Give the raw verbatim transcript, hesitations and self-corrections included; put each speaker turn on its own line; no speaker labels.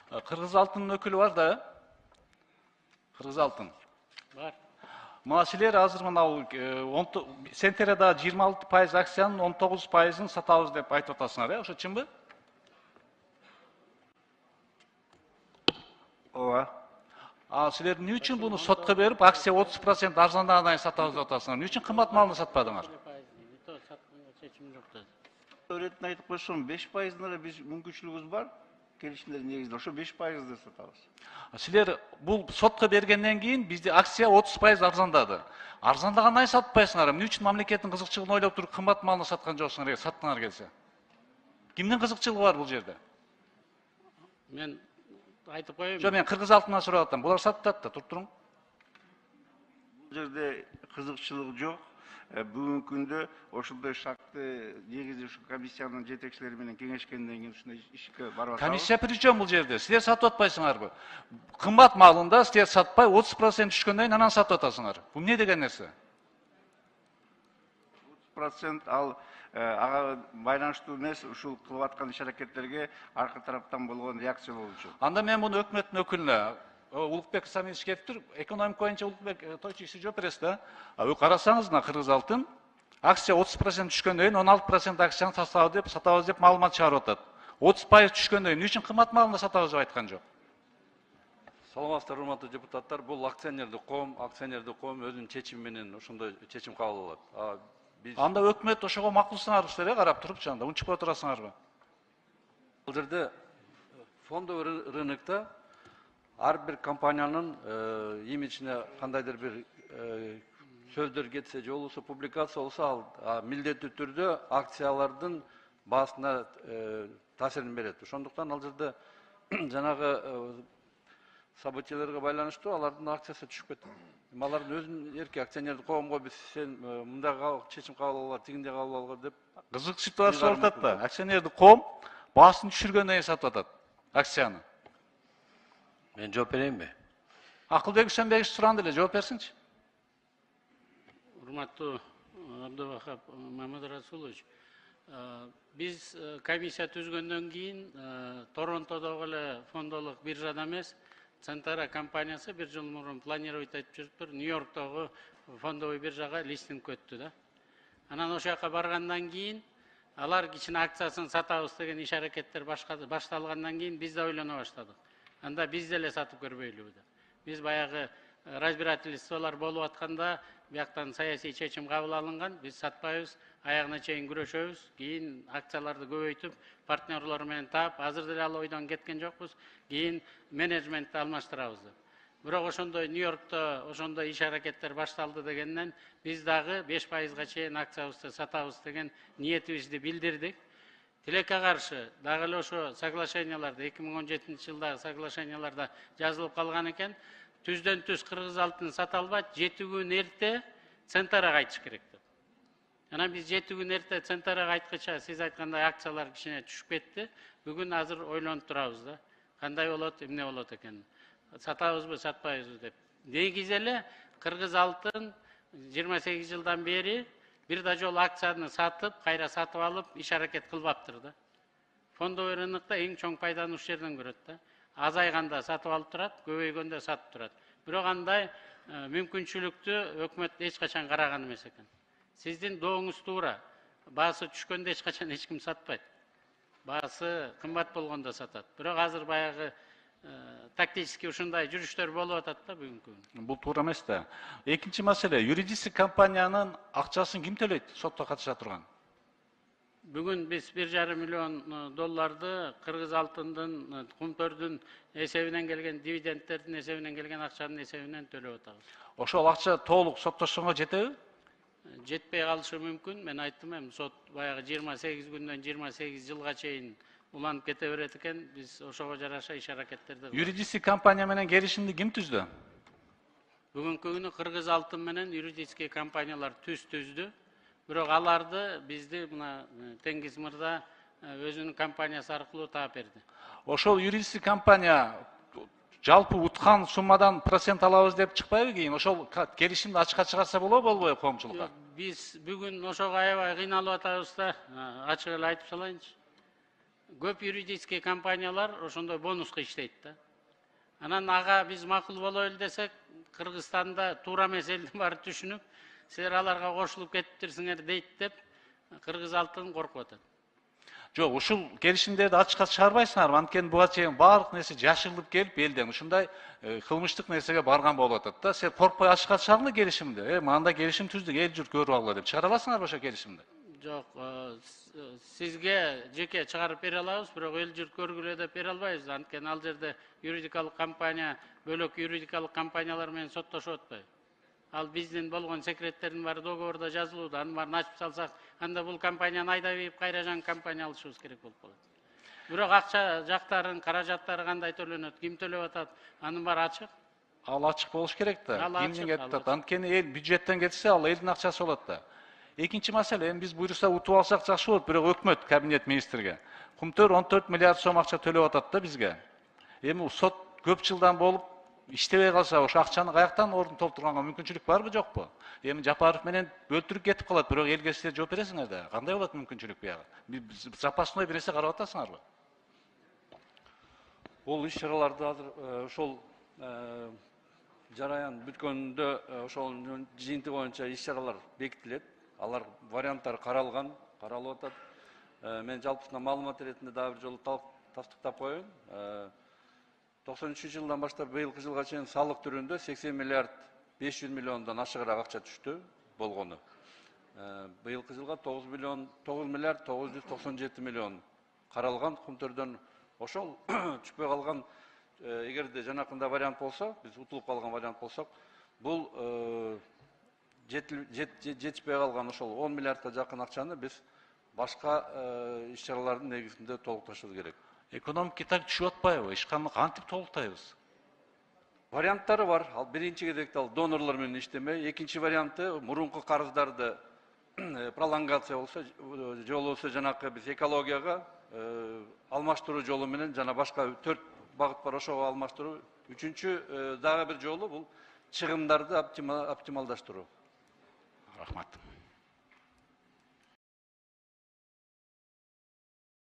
Кыргыз алтынын өкүлү бар да. Кыргыз алтын.
Бар.
Мына силер азыр мына Сентерада жыйырма алты пайыз акциянын он тогуз пайызын сатабыз деп айтып атасыңар, э? Ошо чынбы?
Ооба.
А силер эмне үчүн буну сотко берип, акция отуз процент арзандагандан кийин сатабыз деп атасыңар? Эмне үчүн кымбат малды сатпадыңар?
Öğretmen айтып койсом, беш пайызына биз мүмкүнчүлүгүбүз бар. Келишимдер негизинде ошо беш пайызды сатабыз.
Силер бул сотко бергенден кийин бизде акция отуз пайыз арзандады. Арзандагандан кийин сатпайсыңар. Эмне үчүн мамлекеттин кызыкчылыгын ойлоп туруп кымбат малды саткан жоксуңар, саттыңар келсе? Кимдин кызыкчылыгы бар бул жерде?
Мен айтып коеюн.
Жок, мен Кыргыз алтынынан сурап атам. Булар сатат да, туруп туруң.
Бул жерде кызыкчылык жок. Бүгүнкү күндө ошондой шартты негизи ушу комиссиянын жетекчилери менен кеңешкенден кийин ушундай ишке барып атабыз.
Комиссия причем бул жерде? Силер сатып атпайсыңарбы? Кымбат малында силер сатпай отуз процент түшкөндөн кийин анан сатып атасыңар. Бул эмне деген нерсе?
отуз процент ал ага байланыштуу эмес, ушул кылып аткан иш-аракеттерге аркы тараптан болгон реакция болуу үчүн.
Анда мен муну өкмөттүн өкүлүнө Улукбек Самиевич келиптир, экономика боюнча Улукбек Тойчук жооп бересиз да. Карасаңыз, мына Кыргыз алтын акция отуз процент түшкөндөн кийин он алты процент акцияны сатабыз деп, сатабыз деп маалымат чыгарып атат. отуз пайыз түшкөндөн кийин эмне үчүн кымбат малында сатабыз деп айткан жок?
Саламатсыздар, урматтуу депутаттар. Бул акционердик коом, акционердик коом өзүнүн чечими менен ошондой чечим кабыл алат.
Биз анда өкмөт ошого макулсыңарбы силер, карап турупчу анда унчукпай турасыңарбы?
Бул жерде фондовый рынокто ар бир компаниянын имиджине кандайдыр бир сөздөр кетсе же болбосо публикация болсо, ал милдеттүү түрдө акциялардын баасына таасирин берет. Ошондуктан ал жерде жанагы событияларга байланыштуу алардын акциясы түшүп кетти. Алардын өзүнүн эрки акционердик коомго биз сен мындай чечим кабыл алгыла, тигиндей кабыл алгыла деп
кызык ситуация болуп атат да. Акционердик коом баасын түшүргөндөн кийин сатып атат акцияны.
Мен жооп берейинби?
Акылбек Үсөнбекович суранды эле, жооп берсинчи.
Урматтуу Абдывахап Мамадрасулович, биз комиссия түзгөндөн кийин Торонтодогу эле фондолук биржада эмес, Центара компаниясы бир жыл мурун планировать этип жүрүптүр, Нью-Йорктогу фондовый биржага листинг өттү да. Анан ошол жака баргандан кийин алар кичине акциясын сатабыз деген иш-аракеттер башталгандан кийин биз да ойлоно баштадык. Анда биз деле сатып көрбөйлүбү деп. Биз баягы разбирательстволор болуп атканда бияктан саясий чечим кабыл алынган, биз сатпайбыз, аягына чейин күрөшөбүз, кийин акцияларды көбөйтүп, партнерлор менен таап, азыр деле ал ойдон кеткен жокпуз, кийин менеджментти алмаштырабыз деп. Бирок ошондой Нью-Йоркто ошондой иш-аракеттер башталды дегенден биз дагы беш пайызга чейин акциябызды сатабыз деген ниетибизди билдирдик. Тилекке каршы дагы эле ошо соглашенияларда эки миң он жетинчи жылдагы соглашенияларда жазылып калган экен, түздөн түз Кыргыз алтын сата албайт, жети күн эрте Центарага айтыш керек деп. Анан биз жети күн эрте Центарага айткыча сиз айткандай акциялар кичине түшүп кетти. Бүгүн азыр ойлонуп турабыз да. Кандай болот, эмне болот экен? Сатабызбы, сатпайбызбы деп. Негизи эле Кыргыз алтын жыйырма сегиз жылдан бери бир да жолу акцияны сатып, кайра сатып алып, иш-аракет кылбаптыр да. Фондовый рынокто эң чоң пайданы ушул жерден көрөт да. Азайганда сатып алып турат, көбөйгөндө сатып турат. Бирок андай мүмкүнчүлүктү өкмөт эч качан караган эмес экен. Сиздин дооңуз туура. Баасы түшкөндө эч качан эч ким сатпайт. Баасы кымбат болгондо сатат. Бирок азыр баягы тактически ушундай жүрүштөр болуп атат да бүгүнкү күндө.
Бул туура эмес да. Экинчи маселе, юридический компаниянын акчасын ким төлөйт? Сотто катыша турган.
Бүгүн биз бир жарым миллион долларды Кыргыз алтындын, кумтөрдүн эсебинен келген, дивидендтердин эсебинен келген акчанын эсебинен төлөп атабыз.
Ошол акча толук соттошконго жетеби?
Жетпей калышы мүмкүн. Мен айттым эми сот баягы жыйырма сегиз күндөн жыйырма сегиз жылга чейин уланып кете берет экен. Биз ошого жараша иш-аракеттерди.
Юридический компания менен келишимди ким түздү?
Бүгүнкү күнү Кыргыз алтын менен юридический компаниялар түз түздү. Бирок аларды бизди мына Теңиз мырза өзүнүн компаниясы аркылуу таап берди.
Ошол юридический компания жалпы уткан суммадан процент алабыз деп чыкпайбы кийин? Ошол келишимди ачыкка чыгарса болобу, болбойбу коомчулукка?
Биз бүгүн ошого аябай кыйналып атабыз да, ачык эле айтып салайынчы. көп юридический компаниялар ошондой бонуска иштейт да. Анан ага биз макул болойлу десек, Кыргызстанда туура эмес элдин баары түшүнүп, силер аларга кошулуп кетиптирсиңер дейт деп, Кыргыз алтын коркуп атат.
Жок, ушул келишимдерди ачыкка чыгарбайсыңарбы? Анткени буга чейин баардык нерсе жашырылып келип, элден ушундай кылмыштык нерсеге барган болуп атат да. Сен коркпой ачыкка чыгардыңы келишимди? Э, мындай келишим түздүк, эл журт көрүп алгыла деп чыгара аласыңарбы ошо келишимди?
Жок, сизге жеке чыгарып бере алабыз, бирок эл журт көргүлө деп бере албайбыз. Анткени ал жерде юридикалык компания, бөлөк юридикалык компаниялар менен соттошуп атпайбы? Ал биздин болгон секреттердин баары договордо жазылууда. Анын баарын ачып салсак, анда бул компанияны айдап ийип кайра жаңы компания алышыбыз керек болуп калат. Бирок акча жактарын, каражаттары кандай төлөнөт, ким төлөп атат, анын баары ачык.
Ал ачык болуш керек да.
Ал ачык,
Кимден
ал
кетип атат?
ачык.
Анткени эл бюджеттен кетсе, ал элдин акчасы болот да. Экинчи маселе, эми биз буйруса утуп алсак жакшы болот, бирок өкмөт, кабинет министрге Кумтөр он төрт миллиард сом акча төлөп атат да бизге. Эми сот көп жылдан болуп иштебей калса, ошо акчаны каяктан ордун толтурганга мүмкүнчүлүк барбы, жокпу? Эми Жапаров менен бөлтүрүп кетип калат, бирок элге силер жооп бересиңер да. Кандай болот мүмкүнчүлүк буяга? Запасной бир нерсе карап атасыңарбы?
Бул иш-чараларды азыр ошол жараян бүткөндө ошол жыйынты боюнча иш-чаралар бекитилет. Алар варианттар каралган, каралып атат. Мен жалпысынан маалымат иретинде дагы бир жолу тастыктап коеюн. токсон үчүнчү жылдан баштап быйылкы жылга чейин салык түрүндө сексен миллиард беш жүз миллиондон ашыгыраак акча түштү болгону. Быйылкы жылга тогуз миллиард тогуз жүз токсон жети миллион каралган Кумтөрдөн. Ошол түшпөй калган, эгерде жанакында вариант болсо, биз утулуп калган вариант болсок, бул жетишпей калган ошол он миллиардка жакын акчаны биз башка иш-чаралардын негизинде толукташыбыз керек.
Экономика түшүп атпайбы? Ишканы кантип толуктайбыз?
Варианттары бар. Ал биринчи кезекте ал донорлор менен иштемей, экинчи варианты мурунку карыздарды пролонгация болсо, же болбосо жанакы биз экологияга алмаштыруу жолу менен жана башка төрт багыт бар, ошого алмаштыруу. Үчүнчү дагы бир жолу бул чыгымдарды оптималдаштыруу.
Рахмат.